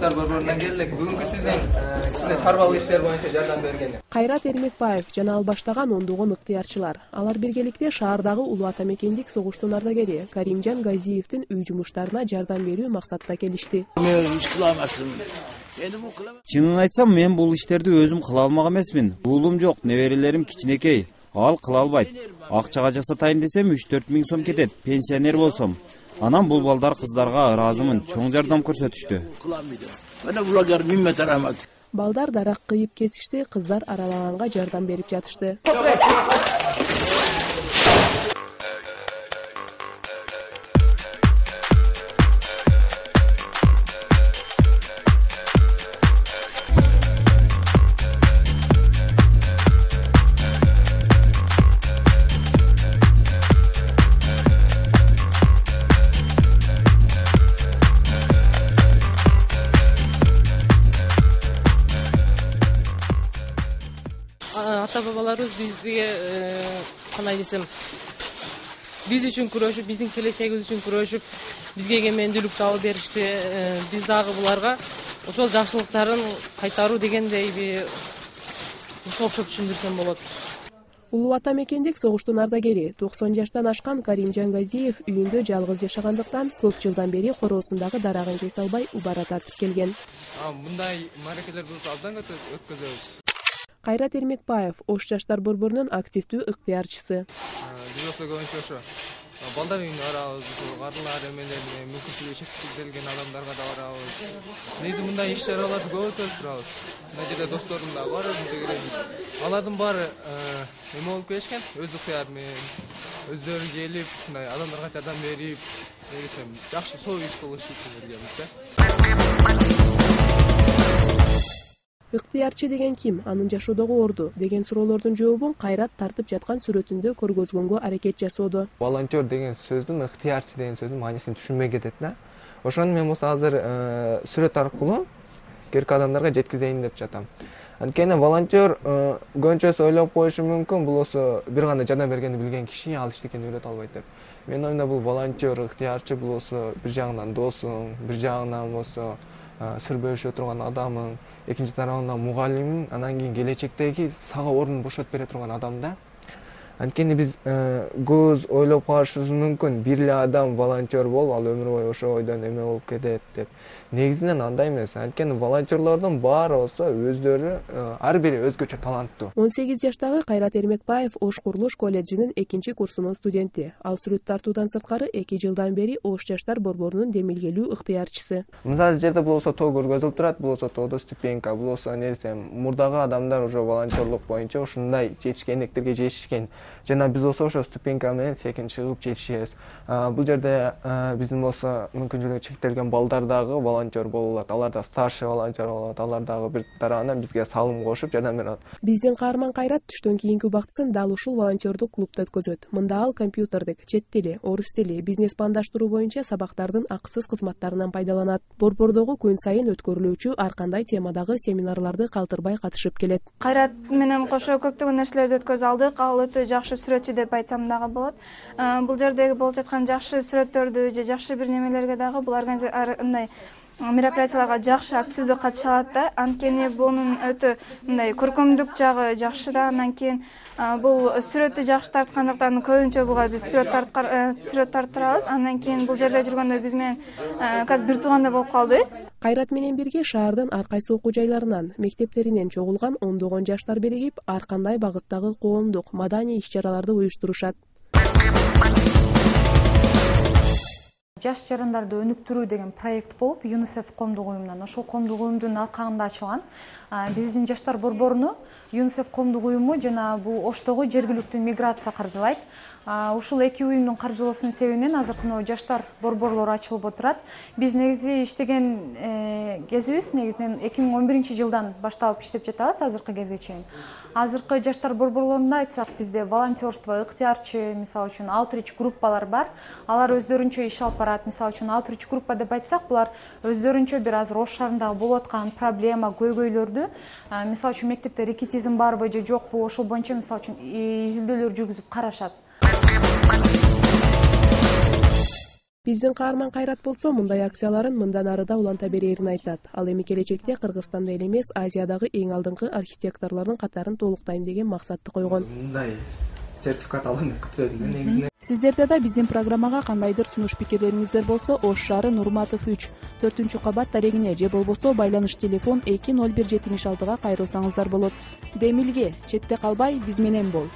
жаштар борборунан келдик. Бүгүнкү сиздин кичине чарбалык иштер боюнча жардам берген. Кайрат Эрмекбаев жана ал баштаган ондогон ыктыярчылар. Алар биргеликте шаардагы Улуу Ата мекендик согуштун ардагери Каримжан Газиевдин үй жумуштарына жардам берүү максатта келишти. Чынын айтсам, мен бул иштерди өзүм кыла алмак эмесмин. Уулум жок, неберелерим кичинекей. Ал кыла албайт. Акчага жасатайын десем 3-4 миң сом кетет, пенсионер болсом. Анан бул балдар кыздарга ыраазымын, чоң жардам көрсөтүштү. Балдар дарак кыйып кесишсе, кыздар аралаганга жардам берип жатышты. Ата-бабаларыбыз бизге кандай десем, биз үчүн күрөшүп, биздин келечегибиз үчүн күрөшүп, бизге эгемендүүлүк табып беришти. Биз дагы буларга ошол жакшылыктарын кайтаруу дегендейби ошо окшоп түшүндүрсөм болот. Улуу Ата мекендик согуштун ардагери 90 жаштан ашкан Каримжан Газиев үйүндө жалгыз жашагандыктан көп жылдан бери короосундагы дарагын кесе албай убара тартып келген. Мындай маракелер болсо абдан өткөзөбүз. Кайрат Эрмекбаев Ош жаштар борборунун активдүү ыктыярчысы. Биз болсо көбүнчө ошо балдар үйүнө барабыз, карылар эмелерге, мүмкүнчүлүгү чектелген адамдарга да барабыз. Негизи мындай иш чараларды көп өткөрүп турабыз. Мына жерде досторум да бар, алардын баары эме болуп келишкен, өз ыктыяры менен өздөрү келип, мындай адамдарга жардам берип, десем, жакшы соо иш кылышып жүргөнбүз да. Ыктыярчы деген ким, анын жашоодогу орду деген суроолордун жообун Кайрат тартып жаткан сүрөтүндө көргөзгөнгө аракет жасоодо. Волонтер деген сөздүн, ыктыярчы деген сөздүн маанисин түшүнбөй кетет да. Ошону мен болсо азыр сүрөт аркылуу керки адамдарга жеткизейин деп жатам. Анткени волонтер көбүнчөсү ойлоп коюшу мүмкүн, бул болсо бир гана жардам бергенди билген киши ал эчтекени үйрөтө албайт деп. Менин оюмда бул волонтер, ыктыярчы бул болсо бир жагынан досуң, бир жагынан болсо сыр бөлүшө турган адамың, экинчи тарабынан мугалимиң, анан кийин келечектеги сага ордун бошотуп бере турган адам да. Анткени биз көз ойлоп калышыбыз мүмкүн, бир эле адам волонтер болуп, ал өмүр бою ошо ойдон эме болуп кетет деп. Негизинен андай эмес. Анткени волонтерлордун баары болсо өздөрү ар бири өзгөчө таланттуу. 18 жаштагы Кайрат Эрмекбаев Ош курулуш колледжинин 2-курсунун студенти. Ал сүрөт тартуудан сырткары 2 жылдан бери Ош жаштар борборунун демилгелүү ыктыярчысы. Мындай жерде бул болсо тоо көргөзүлүп турат, бул болсо тоодо ступенька, бул болсо эмне десем, мурдагы адамдар уже волонтерлук боюнча ушундай жетишкендиктерге жетишкен. Жана биз болсо ошо ступенька менен секин чыгып жетишебиз. Бул жерде биздин болсо мүмкүнчүлүгү чектелген балдар дагы волонтер боло алат. Алар да старший волонтер боло алат. Алар дагы бир тарабынан бизге салым кошуп жардам бере алат. Биздин каарман Кайрат түштөн кийинки убактысын дал ушул волонтердук клубда өткөзөт. Мында ал компьютердик, чет тили, орус тили, бизнес пландаштыруу боюнча сабактардын акысыз кызматтарынан пайдаланат. Борбордогу күн сайын өткөрүлүүчү ар кандай темадагы семинарларды калтырбай катышып келет. Кайрат менен кошо көптөгөн нерселерди өткөзө алдык. Ал өтө жакшы сүрөтчү деп айтсам дагы болот. Бул жердеги болуп жаткан жакшы сүрөттөрдү же жакшы бир немелерге дагы бул мындай мероприятияларга жакшы активдүү катыша алат да. Анткени бунун өтө мындай көркөмдүк жагы жакшы да. Андан кийин бул сүрөттү жакшы тарткандыктан көбүнчө буга биз сүрөт тарттырабыз. Андан кийин бул жерде жүргөндө биз менен как бир туугандай болуп калды. Кайрат менен бирге шаардын ар кайсы окуу жайларынан, мектептеринен чогулган ондогон жаштар биригип, ар кандай багыттагы коомдук, маданий иш-чараларды уюштурушат. Жаш жарандарды өнүктүрүү деген проект болуп, ЮНИСЕФ коомдук уюмунан, ошол коомдук уюмдун алкагында ачылган. Биздин жаштар борборуну ЮНИСЕФ коомдук уюму жана бул Оштогу жергиликтүү миграция каржылайт. Ушул эки уюмдун каржылоосунун себебинен азыркы жаштар борборлору ачылып отурат. Биз негизи иштеген кезибиз негизинен 2011-жылдан башталып иштеп жатабыз азыркы кезге чейин. Азыркы жаштар борборлорунда айтсак, бизде волонтерство, ыктыярчы, мисалы үчүн аутрич группалар бар. Алар өздөрүнчө иш алып барат. Мисалы үчүн аутрич группа деп айтсак, булар өздөрүнчө бир азыр Ош шаарындагы болуп аткан проблема, көйгөйлөрдү, мисалы үчүн мектепте рекетизм барбы же жокпу, ошол боюнча мисалы үчүн изилдөөлөр жүргүзүп карашат. Биздин каарман Кайрат болсо мындай акцияларын мындан ары да уланта берерин айтат. Ал эми келечекте Кыргызстанда эле эмес, Азиядагы эң алдыңкы архитекторлордун катарын толуктайм деген максатты койгон. Мындай сертификат алам деп күтүп эдим негизинен. Сиздерде да биздин программага кандайдыр сунуш пикирлериңиздер болсо, Ош шаары Нурматов 3, 4-кабат дарегине же болбосо байланыш телефон 20176-га кайрылсаңыздар болот. Демилге, четте калбай биз менен бол.